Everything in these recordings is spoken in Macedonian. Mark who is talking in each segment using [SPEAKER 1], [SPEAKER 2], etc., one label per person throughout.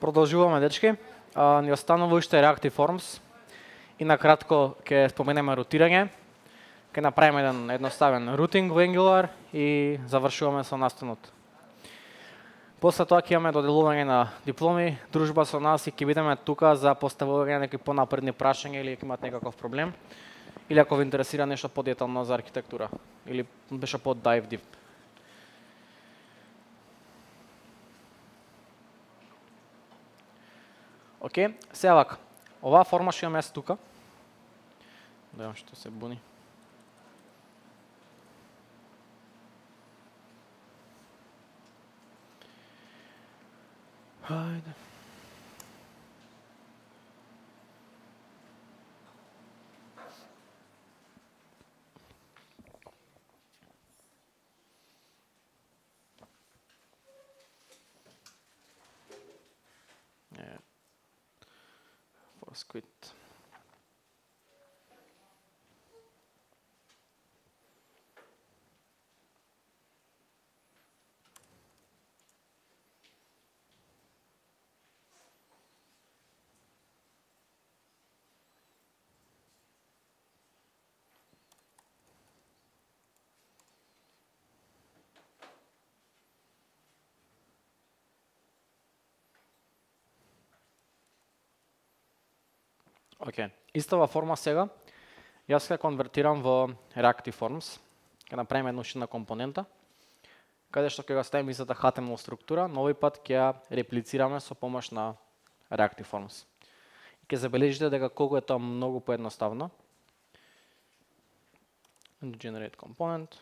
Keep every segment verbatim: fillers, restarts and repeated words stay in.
[SPEAKER 1] Продолжуваме, дечки. А, ни останува уште Reactive Forms и накратко ќе споменеме рутирање. Ќе направиме еден едноставен рутинг во Angular и завршуваме со настанот. После тоа ќе имаме доделување на дипломи, дружба со нас и ќе бидеме тука за поставување на некои понапредни прашања или ако имате некаков проблем, или ако ви интересира нешто подетално за архитектура или беше под dive deep. Океј, сега вака. Оваа форма што имаме јас тука. Да видам што се буни. Хајде. Quit. Океј, okay. Истава форма сега, јас ќе конвертирам во Reactive Forms, ќе направиме една ушина компонента, каде што ќе го ставиме истата H T M L структура, но овој пат ќе ја реплицираме со помош на Reactive Forms. И ќе забележите дека колку е тоа многу поедноставно. Generate component.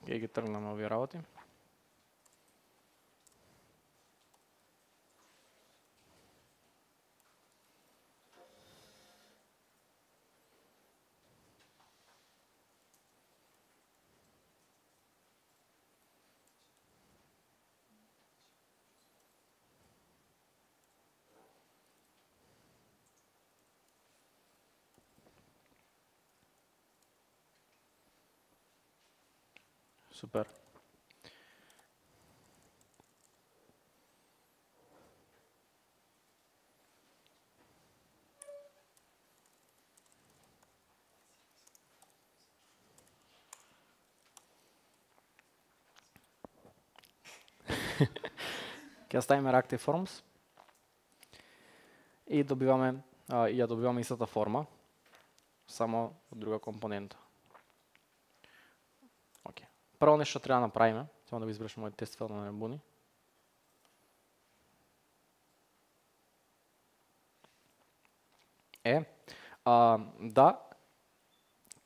[SPEAKER 1] Ќе ги тргнам овие работи. Супер. Ќе ставиме Reactive Forms и добиваме а, и ја добиваме истата форма, само од друга компонента. Прво нешто треба да направиме, само да го избрашам мојот тест файл да не буни. Е, а, да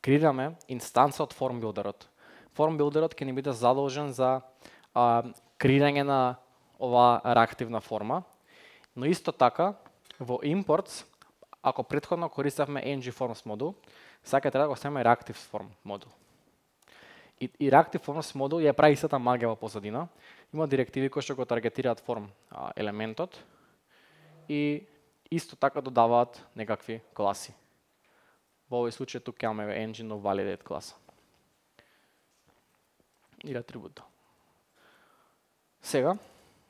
[SPEAKER 1] креираме инстанца од Form Builder-от. Form Builder-от ќе ни биде задолжен за а, креирање на оваа реактивна форма, но исто така во imports, ако претходно користевме ngForms модул, сега ќе треба да го ставиме Reactive Form модул. И, и Reactive Forms модул ја прави истата магија во позадина. Има директиви кои што го таргетираат form а, елементот и исто така додаваат некакви класи. Во овој случај тука имаме engine validate класа. И атрибут. Сега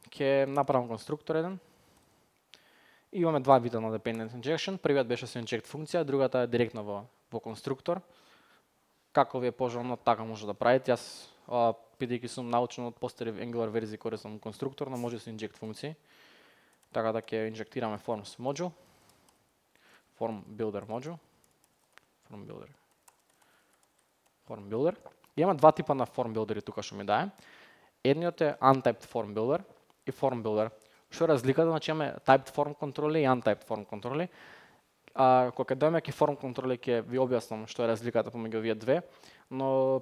[SPEAKER 1] ќе направам конструктор еден. И имаме два вида на dependent injection. Првиот беше со inject функција, другата е директно во во конструктор. Како ви е пожелно, така може да правите. Јас, бидејќи сум научен од постари Angular верзии, користам конструктор, но може со inject функции. Така да ќе инжектираме forms module, form builder module, form builder, form builder. И има два типа на form builder тука што ми дае. Едниот е untyped form builder и form builder. Што е разликата? Значи имаме typed form контроли и untyped form контроли. А, кога дојме ке form контроли ќе ви објаснам што е разликата помеѓу овие две, но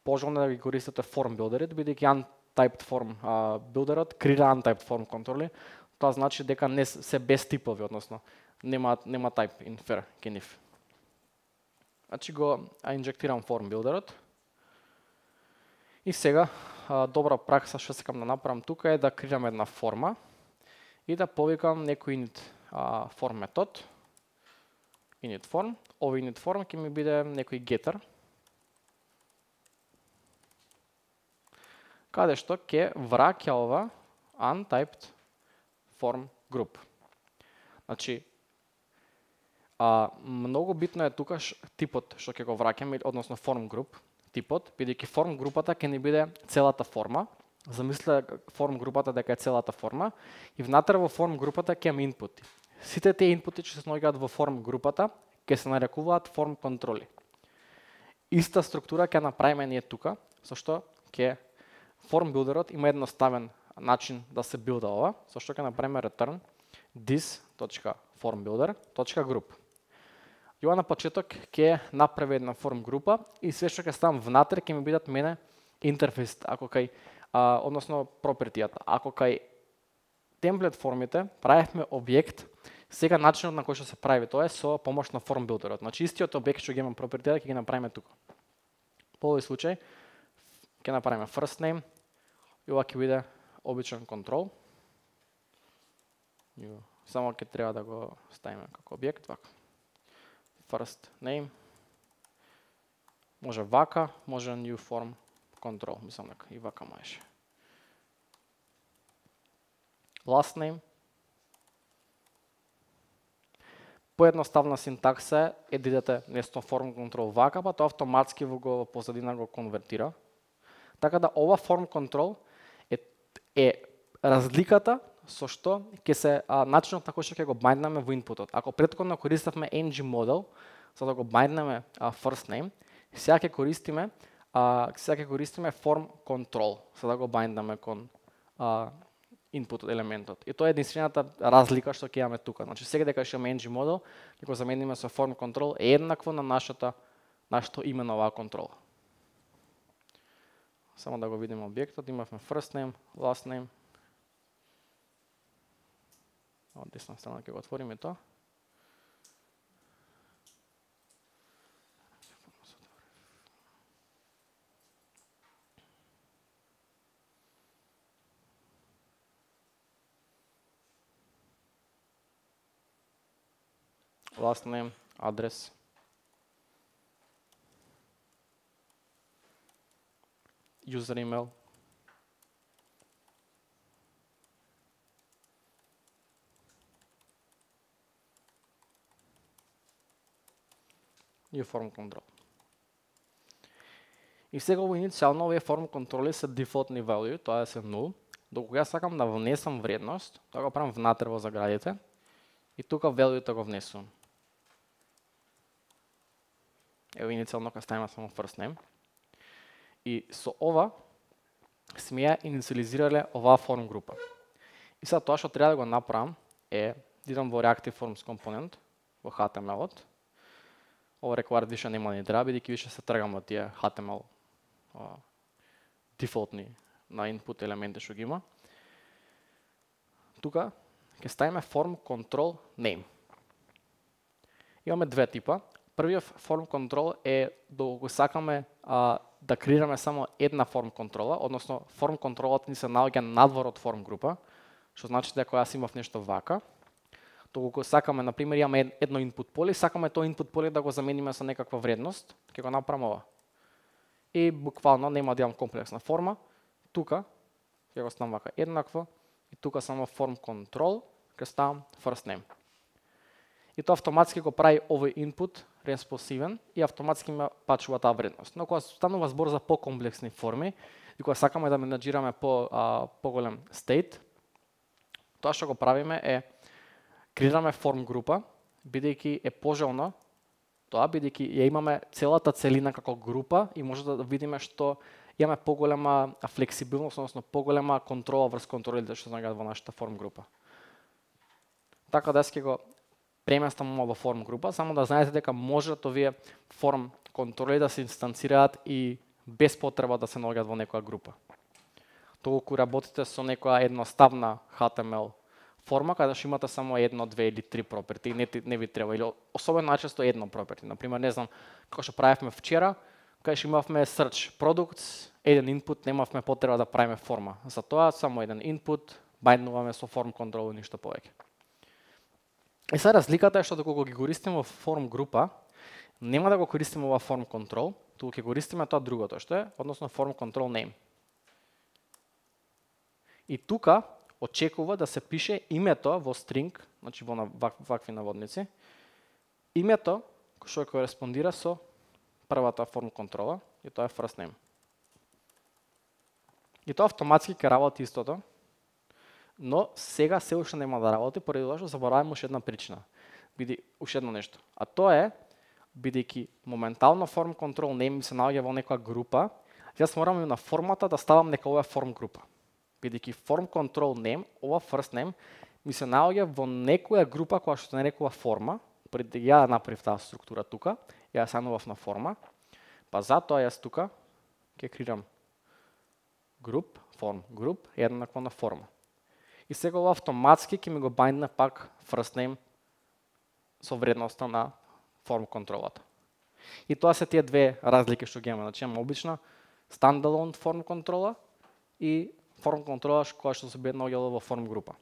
[SPEAKER 1] пожелно да ги користите form builder-ите, бидејќи untyped form а, builder-от креира untyped form контроли. Тоа значи дека не се без типови, односно нема нема type infer ке нив. Значи го инжектирам форм билдерот. И сега добра пракса што сакам да направам тука е да креирам една форма и да повикам некој init form метод. Init form. Овој init form ќе ми биде некој getter. Каде што ќе враќа ова untyped form group. Значи, а, многу битно е тука ш, типот што ќе го враќаме, односно form group, типот, бидејќи form групата ќе ни биде целата форма. Замислете form групата дека е целата форма и внатре во form групата ќе имаме инпути. Сите тие инпути што се наоѓаат во form групата ќе се нарекуваат form контроли. Иста структура ќе направиме ние тука, со што ќе form builderот има едноставен начин да се билда ова, со што ќе направиме return this.formbuilder.group. И ова на почеток ќе направи една form група и све што ќе ставам внатре ќе ми бидат мене интерфейс, ако кај а, односно пропертијата. Ако кај темплет формите правевме објект, сега начинот на кој што се прави тоа е со помош на form builderот. Значи истиот објект што ќе имам пропертијата ќе ги направиме тука. По овој случај ќе направиме first name и ова ќе биде обичен контрол. Само ќе треба да го ставиме како објект вака. First name. Може вака, може new form control, мислам дека и вака можеше. Last name. Поедноставна синтакса е да идете место form control вака, па тоа автоматски во го позадина го конвертира. Така да ова form control е, е разликата со што ќе се а, начинот на кој што ќе го бајнднаме во инпутот. Ако претходно користевме ng model за да го бајнднаме first name, сега ќе користиме а, сега ќе користиме form control за да го бајнднаме кон а, input елементот. И тоа е единствената разлика што ќе имаме тука. Значи сега дека ќе имаме ng model, ќе го замениме со form control е еднакво на нашата нашето име на оваа контрола. Само да го видиме објектот, имавме first name, last name. Од десна страна ќе го отвориме тоа. Last name, адрес. User email. И form control. И сега во иницијално овие form контроли се дефолтни value, тоа е се нул. Докога ја сакам да внесам вредност, тоа го правам внатре во заградите и тука value-то го внесувам. Ево иницијално ќе ставиме само first name. И со ова сме ја инициализирале оваа form група. И сега тоа што треба да го направам е да идам во reactive forms компонент во H T M L-от. Ова required више нема ни треба, бидејќи више се тргам од тие H T M L а, дефолтни на input елементи што ги има. Тука ќе ставиме form control name. Имаме две типа. Првиот form control е доколку сакаме а, да креираме само една form контрола, односно form контролот ни се наоѓа надвор од form група, што значи дека јас имав нешто вака. Доколку сакаме, например, имаме едно input поле, сакаме тоа input поле да го замениме со некаква вредност, ќе го направиме ова. И буквално нема да имам комплексна форма. Тука ќе го ставам вака еднакво и тука само form control ќе ставам first name. И тоа автоматски го прави овој input респонсивен и автоматски ме пачува таа вредност. Но кога станува збор за покомплексни форми и кога сакаме да менаџираме по а, поголем state, тоа што го правиме е креираме form група, бидејќи е пожелно тоа, бидејќи ја имаме целата целина како група и може да видиме што имаме поголема флексибилност, односно поголема контрола врз контролите што наоѓаат во нашата form група. Така да ќе го преместам во form група, само да знаете дека можат овие form контроли да се инстанцираат и без потреба да се наоѓаат во некоја група. Толку работите со некоја едноставна H T M L форма каде што имате само едно, две или три проперти, не, не ви треба, или особено најчесто едно проперти. Например, не знам, како што правевме вчера, кај што имавме search products, еден input, немавме потреба да правиме форма. За тоа само еден input, бајднуваме со form control и ништо повеќе. И сега разликата е што доколку ги користиме во form група, нема да го користиме ова form control, туку ќе користиме тоа другото, што е, односно form control name. И тука очекува да се пише името во string, значи во вак, вакви наводници, името што кореспондира со првата form контрола, и тоа е first name. И тоа автоматски ќе работи истото, но сега се уште нема да работи, поради тоа што забораваме уште една причина. Биди уште едно нешто. А тоа е, бидејќи моментално form control name се наоѓа во некоја група, јас морам на формата да ставам нека ова form група. Бидејќи form control name, ова first name, ми се наоѓа во некоја група која што се нарекува форма, преди ја направив таа структура тука, ја станував на форма, па затоа јас тука ќе креирам group, form group, еднакво на форма. И сега ова автоматски ќе ми го бајндне пак first name со вредноста на form контролата. И тоа се тие две разлики што ги имаме. Значи имаме обична standalone form контрола и form контрола која што се би наоѓала во form група.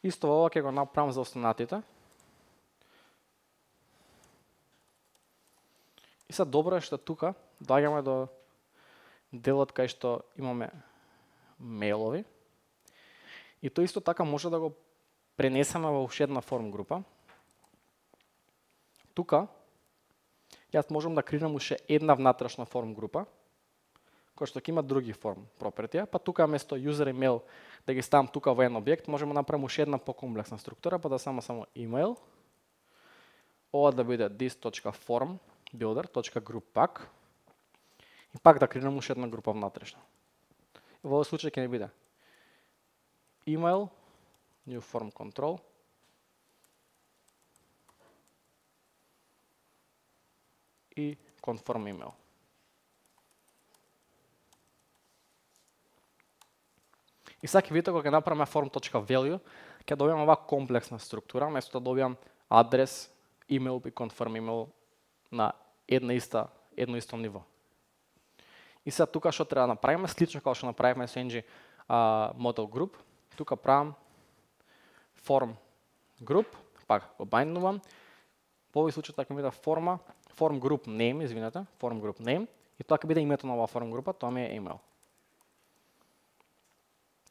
[SPEAKER 1] Исто ова ќе го направам за останатите. И сега добро е што тука доаѓаме до делот кај што имаме мејлови. И тоа исто така може да го пренесеме во уште една form група. Тука јас можам да креирам уште една внатрешна form група, која што ќе има други form пропертија, па тука место user email да ги ставам тука во еден објект, можеме да направиме уште една покомплексна структура, па да само само email. Ова да биде this.form builder.group пак. И пак да креирам уште една група внатрешна. И во овој случај ќе ни биде email, new form control, и confirm email. И сега ќе видите кога ќе направиме form.value, ќе добијам оваа комплексна структура, место да добијам адрес, email и confirm email на една иста, едно исто ниво. И сега тука што треба да направиме, слично како што направивме со N G uh, model group, тука правам form group, пак го бајнднувам. Во овој случај така ми биде форма, form group name, извинете, form group name, и тоа ќе биде името на оваа form група, тоа ми е email.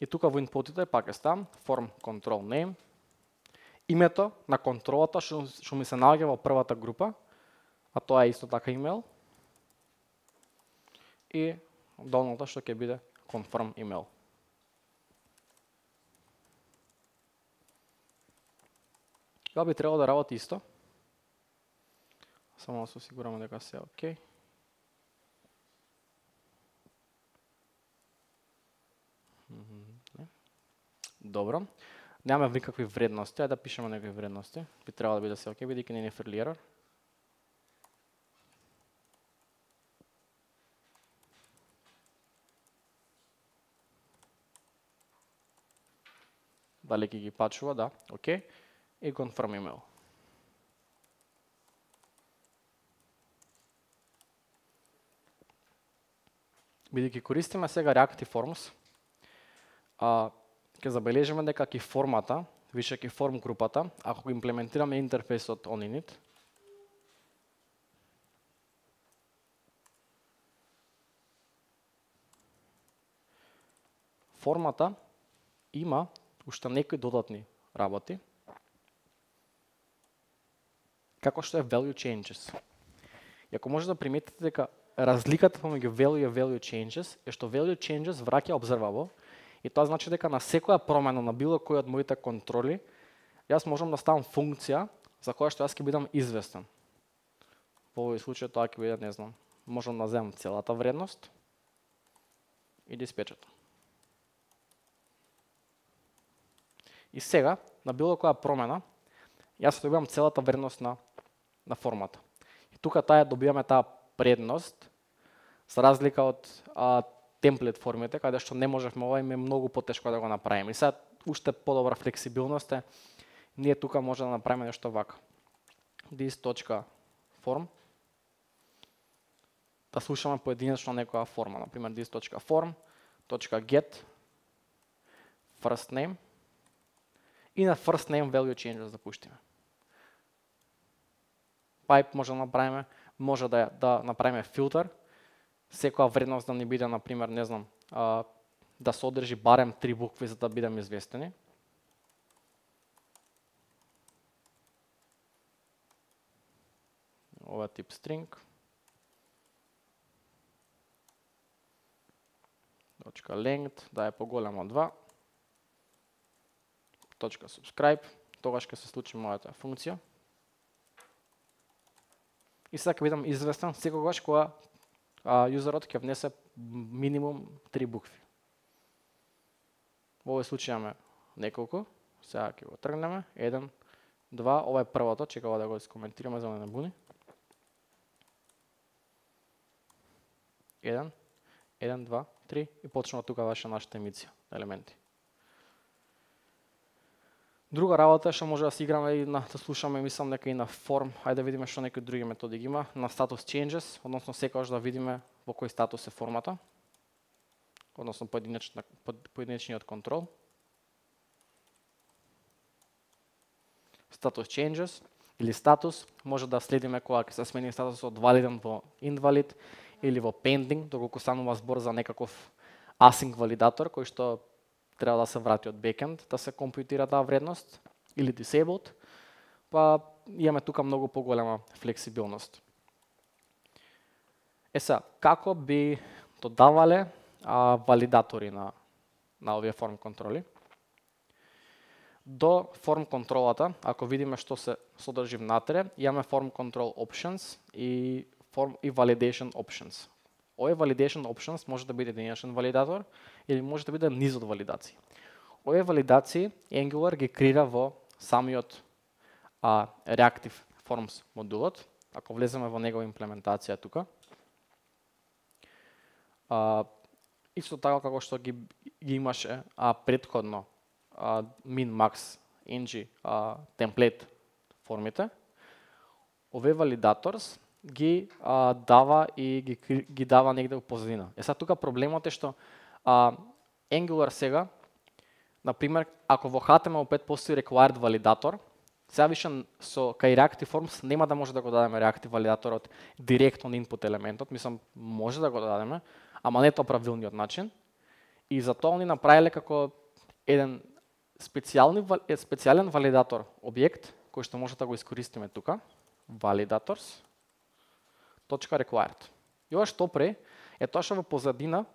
[SPEAKER 1] И тука во инпутите пак е ставам form control name, името на контролата што, што ми се наоѓа во првата група, а тоа е исто така email, и долната што ќе биде confirm email. Тоа би требало да работи исто. Само да се осигураме дека се е окей. Добро. Немаме никакви вредности, ајде да пишеме некои вредности. Би требало да биде се окей, бидејќи не е fairly error. Дали ќе ги пачува, да, окей. И confirm email. Бидејќи користиме сега Reactive Forms, а, ќе забележиме дека ки формата, више ки form групата, ако го имплементираме интерфејсот OnInit, формата има уште некои додатни работи, како што е value changes. И ако може да приметите дека разликата помеѓу value и value changes е што value changes враќа observable, и тоа значи дека на секоја промена на било кој од моите контроли, јас можам да ставам функција за која што јас ќе бидам известен. Во овој случај тоа ќе биде, не знам, можам да земам целата вредност и да испечатам. И сега, на било која промена, јас добивам целата вредност на, на формата. И тука таа добиваме таа предност, за разлика од а, темплет формите, каде што не можевме ова, им е многу потешко да го направиме. И сега уште подобра флексибилност е, ние тука може да направиме нешто вака. this.form да слушаме поединечно некоја форма, например this.form.get first name и на first name value changes да пуштиме. Pipe може да направиме, може да, да направиме филтер, секоја вредност да ни биде, например, не знам, а, да содржи барем три букви за да бидеме известени. Ова тип string. Точка length, да е поголемо од два. Точка subscribe, тогаш ќе се случи мојата функција. И сега ќе бидам известен секогаш кога а, юзерот ќе внесе минимум три букви. Во овој случај имаме неколку, сега ќе го тргнеме, еден, два, ова е првото, чекава да го искоментираме за да не буни. Еден, еден, два, три и почнува тука ваша нашата емисија елементи. Друга работа што може да се играме и на да слушаме, мислам дека и на form, ајде да видиме што некои други методи ги има, на status changes, односно секогаш да видиме во кој статус е формата, односно поединечниот контрол. Status changes или статус може да следиме кога ќе се смени статусот од валиден во invalid или во pending, доколку станува збор за некаков async валидатор кој што треба да се врати од backend, да се компјутира таа вредност, или disabled, па имаме тука многу поголема флексибилност. Е са, како би додавале а, валидатори на, на овие form контроли? До form контролата, ако видиме што се содржи внатре, имаме form control options и, form, и validation options. Овој validation options може да биде единичен валидатор или може да биде низ од валидации. Овие валидации Angular ги креира во самиот а, Reactive Forms модулот. Ако влеземе во негова имплементација тука, а, исто така како што ги, ги имаше а, предходно а, min, max, ng а, темплет формите, овие валидаторс ги а, дава и ги, ги дава негде во позадина. Е сега тука проблемот е што а, Angular сега, например, ако во H T M L пет постои required валидатор, сега више со кај Reactive Forms нема да може да го дадеме Reactive валидаторот директно на input елементот, мислам може да го дадеме, ама не тоа правилниот начин. И затоа они направиле како еден специјални специјален валидатор објект кој што може да го искористиме тука, validators .required. И ова што пре е тоа што во позадина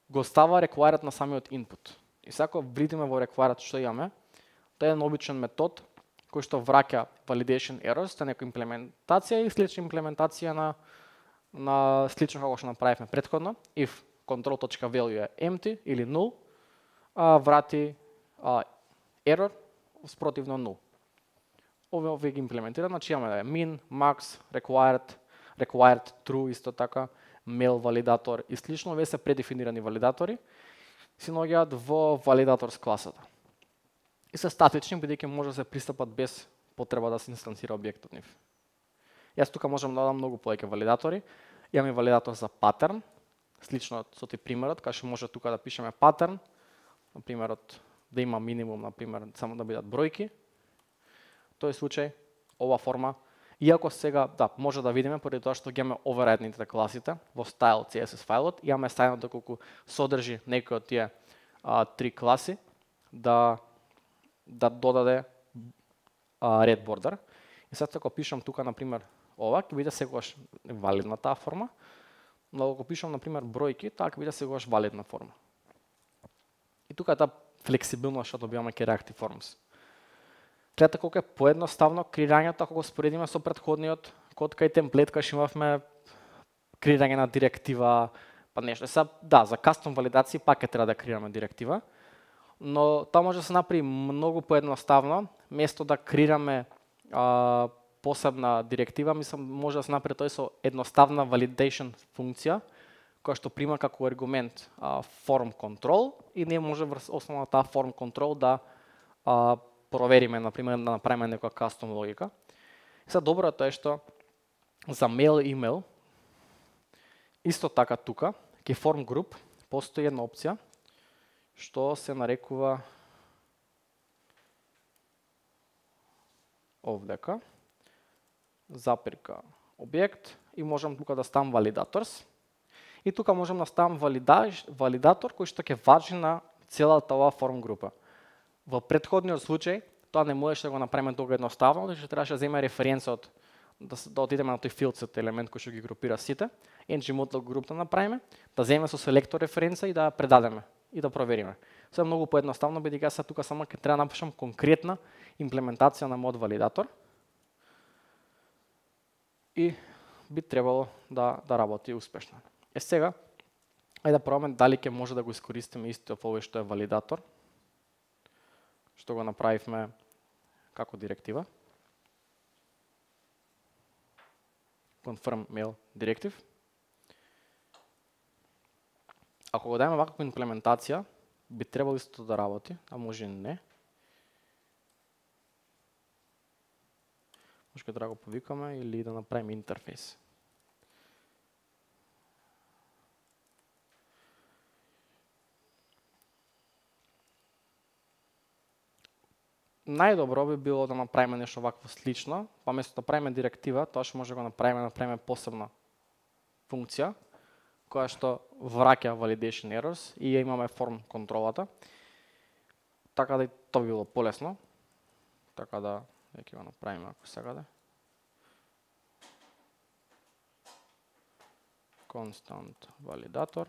[SPEAKER 1] го става required на самиот input. И сега кога видиме во required што имаме, тоа е еден обичен метод кој што враќа validation errors, тоа е некоја имплементација и слична имплементација на на слично како што направивме претходно. If control.value е empty или null, а, врати а, error спротивно null. Овие овие ги имплементира, значи имаме да е min, max, required, required true исто така, mail валидатор и слично, овие се предефинирани валидатори, се наоѓаат во validators класата. И се статични, бидејќи може да се пристапат без потреба да се инстансира објектот нив. Јас тука можам да дадам многу повеќе валидатори. Имаме валидатор за патерн, слично со тој примерот, кај што може тука да пишеме патерн, на примерот да има минимум, на пример, само да бидат бројки. Тој случај, ова форма, иако сега, да, може да видиме, поради тоа што ги имаме overrideните класите, во style C S S фајлот, имаме стајно доколку содржи некој од тие а, три класи, да, да додаде а, red border. И сега ако пишам тука, например, ова, ќе биде секогаш валидна таа форма, но ако пишам, например, бројки, таа ќе биде секогаш валидна форма. И тука е таа флексибилност што добиваме кај Reactive Forms. Гледате колку е поедноставно креирањето ако го споредиме со претходниот код кај темплет, кај што имавме креирање на директива, па нешто. Сега, да, за кастом валидации пак ќе треба да креираме директива, но тоа може да се направи многу поедноставно, место да креираме а, посебна директива, мислам може да се направи тој со едноставна validation функција, која што прима како аргумент а, form control и ние може врз основа на таа form control да а, провериме, например, да направиме некоја custom логика. И сега доброто е што за mail и email исто така тука, ке form group постои една опција што се нарекува овдека запирка објект и можам тука да ставам validators. И тука можам да ставам валидатор кој што ќе важи на целата оваа форм група. Во претходниот случај тоа не можеше да го направиме толку едноставно, што требаше да земе референца од да, да отидеме на тој field set елемент кој што ги групира сите, ngModel group да направиме, да земеме со селектор референца и да ја предадеме и да провериме. Се многу поедноставно бидејќи јас тука само ќе треба да напишам конкретна имплементација на мод валидатор и би требало да да работи успешно. Е сега, ајде да пробаме дали ќе може да го искористиме исто овој што е валидатор, што го направивме како директива. Confirm mail directive. Ако го дајме ваква имплементација, би требало исто да работи, а може и не. Може да го повикаме или да направиме интерфейс. Најдобро би било да направиме нешто вакво слично, па место да правиме директива, тоа што може да го направиме, да направиме посебна функција, која што враќа validation errors и ја имаме form контролата. Така да и тоа би било полесно. Така да, ќе го направиме ако сакате. Constant validator.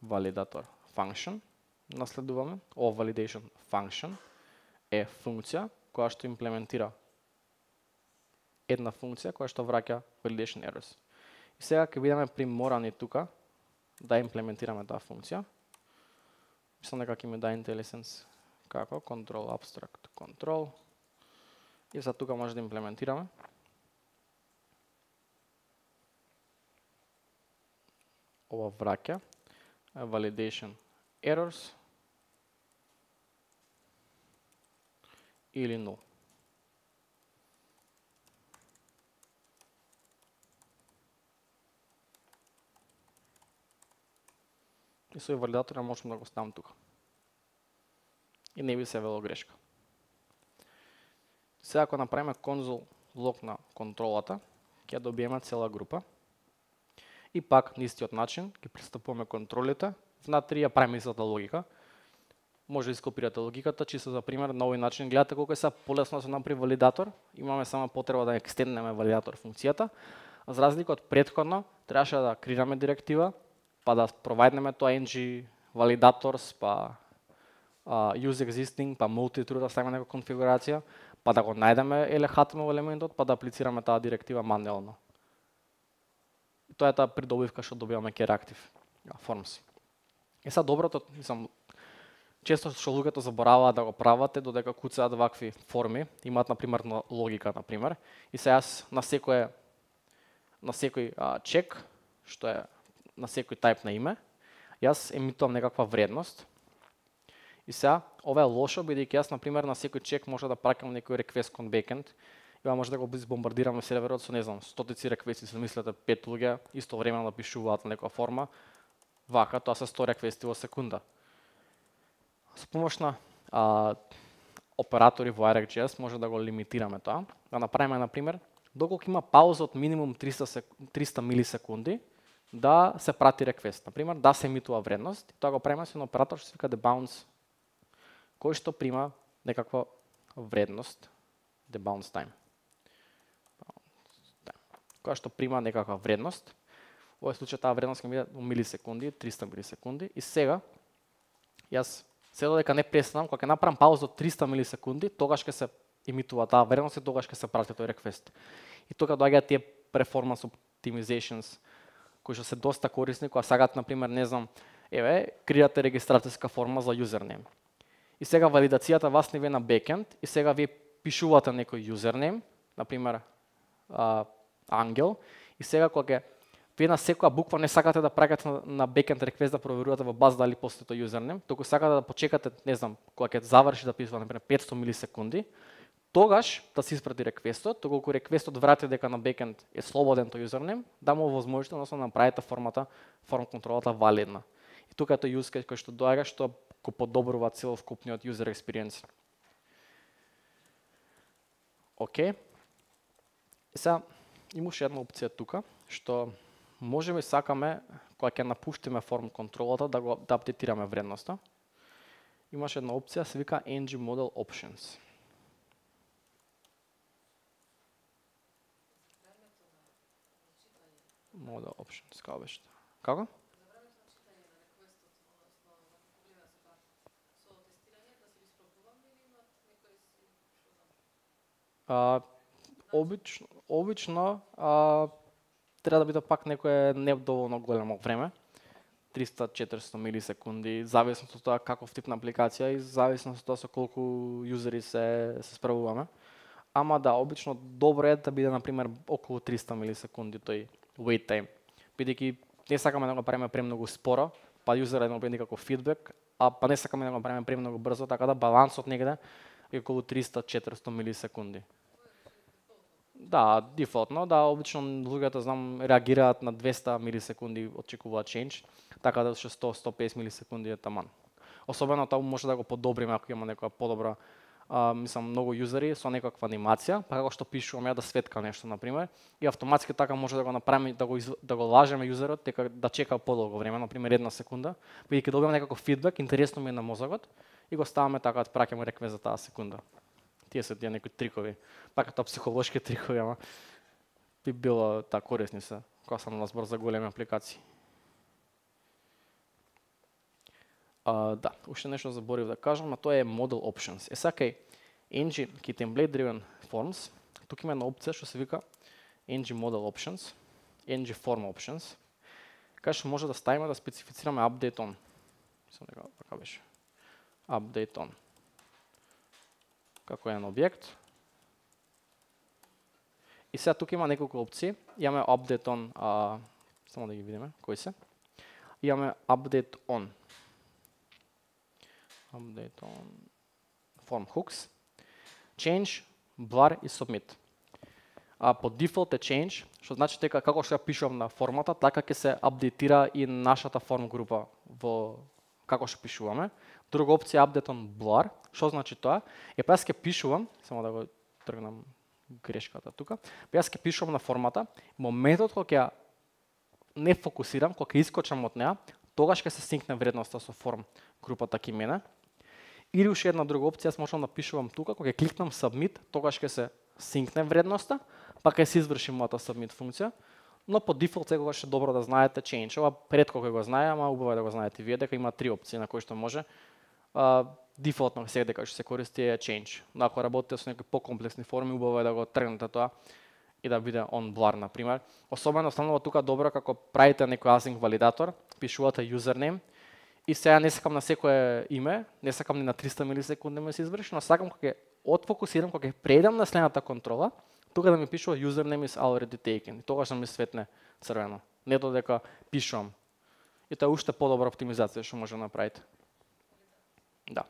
[SPEAKER 1] Validator function. Наследуваме. О validation function е функција која што имплементира една функција која што враќа validation errors. И сега ќе бидеме приморани тука да имплементираме таа функција. Мислам дека ќе ми даде IntelliSense како control abstract control. И за тука може да имплементираме. Ова враќа validation errors или null. И со валидатор можам да го ставам тука. И не би се вело грешка. Сега ако направиме конзол лог на контролата, ќе добиеме цела група. И пак на истиот начин ќе пристапуваме контролите. Внатре ја правиме истата логика. Може да ископирате логиката, чисто за пример, на овој начин гледате колку е са полесно да се направи валидатор. Имаме само потреба да екстенднеме валидатор функцијата. За разлика од претходно, требаше да креираме директива, па да провајднеме тоа ng validators, па uh, use existing, па multi-true да ставиме некоја конфигурација, па да го најдеме ел ейч ти ем ел елементот, па да аплицираме таа директива мануелно. Тоа е таа придобивка што добиваме ке Reactive Forms. Е са доброто, мислам, често што луѓето забораваат да го прават е додека куцаат вакви форми, имаат на пример логика на пример, и се јас на секој на секој а, чек што е на секој тајп на име, јас емитувам некаква вредност. И сега ова е лошо бидејќи јас на пример на секој чек може да праќам некој request кон backend. И може да го бомбардираме серверот со не знам стотици реквести, се мислете пет луѓе истовремено да пишуваат на некоја форма. Вака тоа се сто реквести во секунда. Со помош на а, оператори во ArcGIS може да го лимитираме тоа. Да направиме на пример доколку има пауза од минимум триста милисекунди да се прати реквест. На пример да се емитува вредност, тоа го правиме со оператор што се вика debounce, кој што прима некаква вредност, debounce time. Која што прима некаква вредност. Во овој случај таа вредност ќе биде во милисекунди, триста милисекунди. И сега јас се додека не престанам, кога ќе направам пауза од триста милисекунди, тогаш ќе се емитува таа вредност и тогаш ќе се прати тој реквест. И тука доаѓаат тие performance optimizations кои што се доста корисни, кога сакат на пример, не знам, еве, креирате регистрацијска форма за юзернейм. И сега валидацијата вас не ви на бекенд и сега ви пишувате некој юзернейм, на пример, а, ангел, и сега кога вие на секоја буква не сакате да праќате на, на backend request да проверувате во база дали постои тој юзернем, туку сакате да почекате, не знам, кога ќе заврши да пишува на пример петсто милисекунди, тогаш да се испрати реквестот, доколку реквестот врати дека на backend е слободен тој юзернем, да му овозможите, односно да направите формата, форм контролата валидна. И тука е тој use case кој што доаѓа, што го подобрува целокупниот user experience. Океј. И сега имаше една опција тука, што можеме и сакаме, кога ќе напуштиме форм контролата, да го да апдейтираме вредноста. Имаше една опција, се вика N G Model Options. Model Options, како беше? Како? А, обично, обично а, треба да биде пак некое не доволно големо време, триста до четиристо милисекунди, зависно од тоа каков тип на апликација и зависно од тоа со колку јузери се се справуваме. Ама да, обично добро е да биде на пример околу триста милисекунди тој wait time, бидејќи не сакаме да го правиме премногу споро, па јузерот да добие некаков фидбек, а па не сакаме да го правиме премногу брзо, така да балансот негде е околу триста до четиристо милисекунди. Да, дефолтно, да, обично луѓето знам реагираат на двесте милисекунди, очекуваат change, така да што сто до сто и песет милисекунди е таман. Особено тоа може да го подобриме ако има некоја подобра, а, мислам многу јузери со некаква анимација, па како што пишувам ја да светка нешто на пример, и автоматски така може да го направиме да го из, да го лажеме јузерот дека да чека подолго време, на пример една секунда, бидејќи добиваме некаков фидбек, интересно ми е на мозокот и го ставаме така да праќаме реквест за таа секунда. Тие се тие некои трикови, пак тоа психолошки трикови, ама би било та корисни се, кога сам на збор за големи апликации. А, да, уште нешто заборив да кажам, а тоа е Model Options. Е сакај, N G, ки Template Driven Forms, тук има една опција што се вика N G Model Options, N G Form Options, кај што може да ставиме да специфицираме Update On. Мислам дека така беше. Update On. Како еден објект. И сега тука има неколку опции. Имаме Update On, а, само да ги видиме, кои се. Имаме Update On. Update On. Form Hooks. Change, Blur и Submit. А, по дефолт е Change, што значи дека како што ја пишувам на формата, така ќе се апдейтира и нашата форм група во како што пишуваме. Друга опција е Update On Blur. Што значи тоа? Е, па јас ќе пишувам, само да го тргнам грешката тука. Па јас ќе пишувам на формата, моментот кога ќе не фокусирам, кога ќе искочам од неа, тогаш ќе се синкне вредноста со форм групата ки мене. Или уште една друга опција, јас можам да пишувам тука, кога ќе кликнам Submit, тогаш ќе се синкне вредноста, па ќе се изврши мојата Submit функција. Но по дефолт секогаш е добро да знаете Change. Ова ретко кој го знае, ама убаво е да го знаете вие, дека има три опции на кои што може. Uh, дефолтно сега дека што се користи е Change. Но ако работите со некои покомплексни форми, убаво е да го тргнете тоа и да биде on blur на пример. Особено станува тука добро како правите некој async валидатор, пишувате username и сега не сакам на секое име, не сакам ни на триста милисекунди да ми се изврши, но сакам кога ќе отфокусирам, кога ќе преидам на следната контрола, тука да ми пишува username is already taken. И тогаш да ми светне црвено. Не додека пишувам. И тоа е уште подобра оптимизација што може да направите. Да.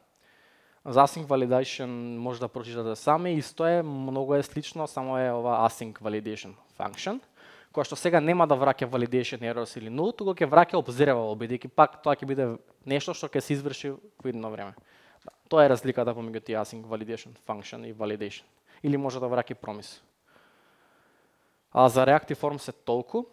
[SPEAKER 1] За async validation може да прочитате сами, исто е, многу е слично, само е ова async validation function, која што сега нема да враќа validation errors или null, туку ќе враќа observable, бидејќи пак тоа ќе биде нешто што ќе се изврши во идно време. Да. Тоа е разликата помеѓу тие async validation function и validation. Или може да враќа promise. А за Reactive Forms е толку.